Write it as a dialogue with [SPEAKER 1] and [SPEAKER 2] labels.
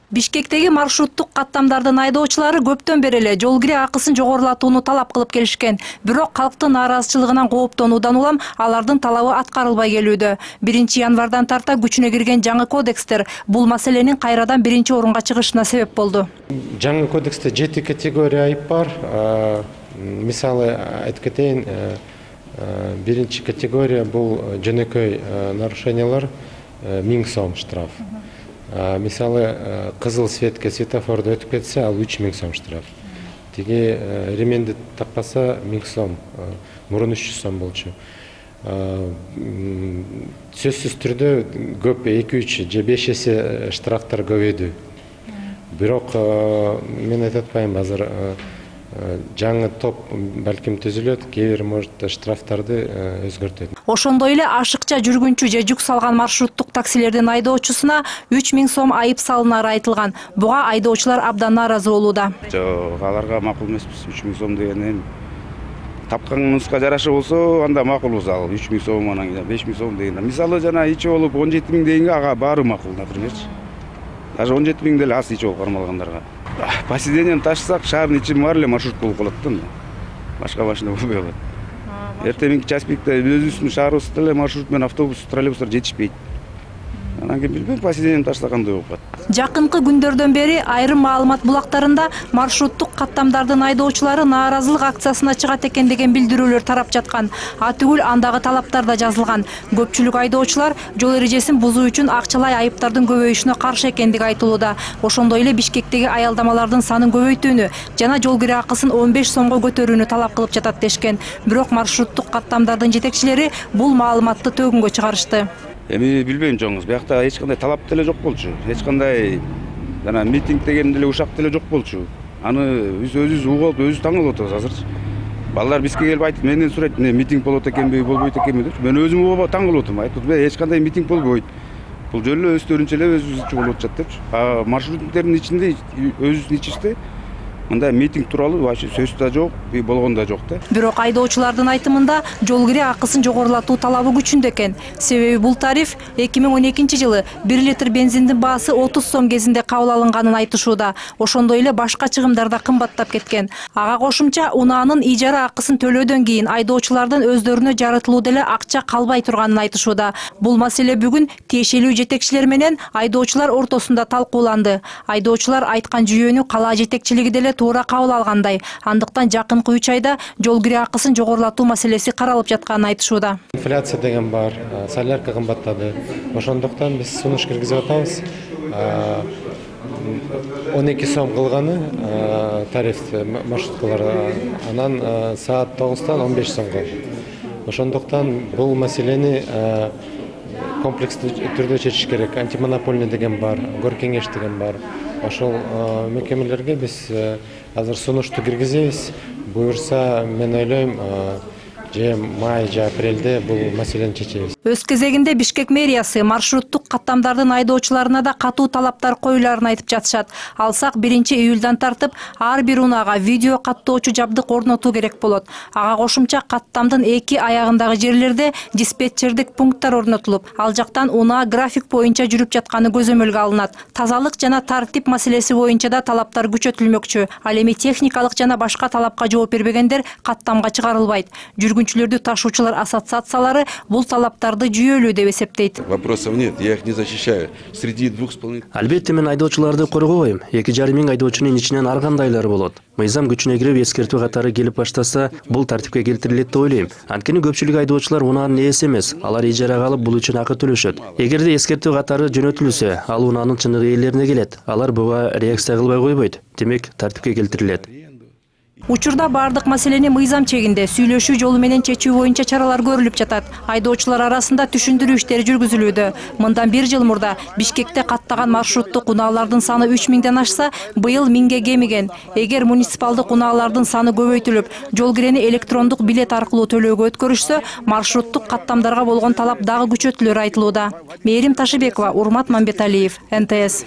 [SPEAKER 1] Бишкектеги маршруттук каттамдардын айдоочулары көптөн бери эле жол кире акысын жогорулатууну талап кылып келишкен. Бирок калктын нааразычылыгынан кооптонуудан улам алардын талабы аткарылбай келүүдө. 1-январдан тарта күчүнө кирген жаңы кодекстер бул маселенин кайрадан биринчи орунга чыгышына себеп болду.
[SPEAKER 2] Жаңы кодексте 7 категория айып бар. Мисалы айтып кетейин, биринчи категория бул жөнөкөй нарушениялар 1000 сом штраф. Мисалы кызыл светке светофорду өтүп кетсе, ал 3000 сом штраф. Тиги ременди такпаса 1000 сом, мурун 300 сом болчу. Сөзсүз түрдө көп 2-3 же 5 эсе штрафтар көбөйдү. Бирок мен айтып атпайм, азыр жаңы топ балким түзүлөт, кээ бир может штрафтарды өзгөртөт.
[SPEAKER 1] Ошондой эле ашыкча жүргүнчү же жүк салган маршруттук таксилердин айдоочусуна 3000 сом айып салынары айтылган. Буга айдоочулар абдан нааразы болууда.
[SPEAKER 3] Жок, аларга макул эмеспиз. 3000 сом деген тапканыңызга жараша болсо, анда макулбуз. Ал 3000 сом анан 5000 сом деген. Мисалы жана ичи болуп 17000 дегенге ага баары макул, напримерчи. Даже 17000 деле аз ичи болуп кармалгандарга. Поседением ташсак, шаардын ичи бар эле маршрут болуп калат да. Башка машина болбой калат. Эртеңки час пикте өзүбүздүн шаарыбызда эле маршрут менен автобус, троллейбустар жетишпейт. Анан кийин билбейм, поседением ташса кандай болуп калат.
[SPEAKER 1] Жакынкы күндөрдөн бери айрым маалымат булактарында маршруттук каттамдардын айдоочулары нааразылык акциясына чыгат экен деген билдирүүлөр тарап жаткан. Атүгүл андагы талаптар да жазылган. Көпчүлүк айдоочулар жол эрежесин бузуу үчүн акчалай айыптардын көбөйүшүнө каршы экендиги айтылууда. Ошондой эле Бишкектеги аялдамалардын санын көбөйтүүнү жана жол кире акысын 15 сомго көтөрүүнү талап кылып жатат дешкен. Бирок маршруттук каттамдардын жетекчилери бул маалыматты төгүнгө чыгарышты.
[SPEAKER 3] Эми билбейм жоңуз, биякта эч кандай талап деле жок болчу. Эч кандай жана митинг деген деле ушак деле жок болчу. Аны өзүбүз угуп, өзүбүз таң калып атабыз азырчы. Балдар бизге келип айтып, менден сурайт, митинг болот экенби, болбойт экенби деп. Мен өзүм угуп таң калып атам. Айтып, эч кандай митинг болбойт. Бул жөн эле өздөрүнчө эле өзүбүзчө болуп атышат депчи. Маршруттердин ичинде өзүбүздүн ичибизде мындай митинг тууралуу вообще сөз да жок, болгон да жок да.
[SPEAKER 1] Бирок айдоочулардын айтымында жол кире акысын жогорулатуу талабы күчүндө экен. Себеби бул тариф 2012-жылы 1 литр бензиндин баасы 30 сом кезинде кабыл алынганын айтышууда. Ошондой эле башка чыгымдар да кымбаттап кеткен. Ага кошумча унаанын ижара акысын төлөөдөн кийин айдоочулардын өздөрүнө жарытылуу деле акча калбай турганын айтышууда. Бул маселе бүгүн тиешелүү жетекчилер менен айдоочулар ортосунда талкууланды. Айдоочулар айткан жүйөнү кала жетекчилиги деле туура кабыл алгандай. Андыктан жакынкы 3 айда жол кире акысын жогорулатуу маселеси каралып жатканын айтышууда.
[SPEAKER 2] Инфляция деген бар, солярка кымбаттады. Ошондуктан биз сунуш киргизип атабыз. 12 сом кылганы тариф маршруткалар, анан саат 9-тан 15 сомго. Ошондуктан бул маселени комплекстүү түрдө чечиш керек. Антимонопольный деген бар, Горкеңеш деген бар. Ошол мекемелерге биз азыр сунушту киргизебиз. Буюрса, мен ойлойм, же май же апрелде бул маселени чечебиз.
[SPEAKER 1] Өз кезегинде Бишкек мэриясы маршруттук каттамдардын айдоочуларына да катуу талаптар коюларын айтып жатышат. Алсак 1-июлдан тартып ар бир унаага видео каттоочу жабдык орнотуу керек болот. Ага кошумча каттамдын 2 аягындагы жерлерде диспетчердик пункттар орнотулуп, ал жактан унаа график боюнча жүрүп жатканы көзөмөлгө алынат. Тазалык жана тартип маселеси боюнча да талаптар күчөтүлмөкчү. Ал эми техникалык жана башка талапка жооп бербегендер каттамга чыгарылбайт. Жүргүнчүлөрдү ташуучулар ассоциациялары бул талаптарды жүйөлүү деп эсептейт.
[SPEAKER 4] Вопросов нет, я их не защищаю. Среди 2,5...
[SPEAKER 5] Албетте мен айдоочуларды коргобойм. 2,5 миң айдоочунун ичинен ар кандайлары болот. Мыйзам күчүнө кирип эскертүү катары келип баштаса, бул тартипке келтирилет деп ойлойм. Анткени көпчүлүк айдоочулар унаанын ээси эмес, алар ижарага алып бул үчүн акы төлөшөт. Эгерде эскертүү катары жөнөтүлсө, ал унаанын чыныгы ээлерине келет. Алар буга реакция кылбай койбойт. Демек, тартипке келтирилет.
[SPEAKER 1] Учурда бардык маселени мыйзам чегинде сүйлөшүү жолу менен чечүү боюнча чаралар көрүлүп жатат. Айдоочулар арасында түшүндүрүү иштери жүргүзүлүүдө. Мындан 1 жыл мурда Бишкекте каттаган маршруттук унаалардын саны 3000ден ашса, быйыл 1000ге кемиген. Эгер муниципалдык унаалардын саны көбөйтүлүп, жол кирени электрондук билет аркылуу төлөөгө өткөрүшсө, маршруттук каттамдарга болгон талап дагы күчөтүлөрү айтылууда. Мээрим Ташыбекова, Урмат Мамбеталиев, НТС.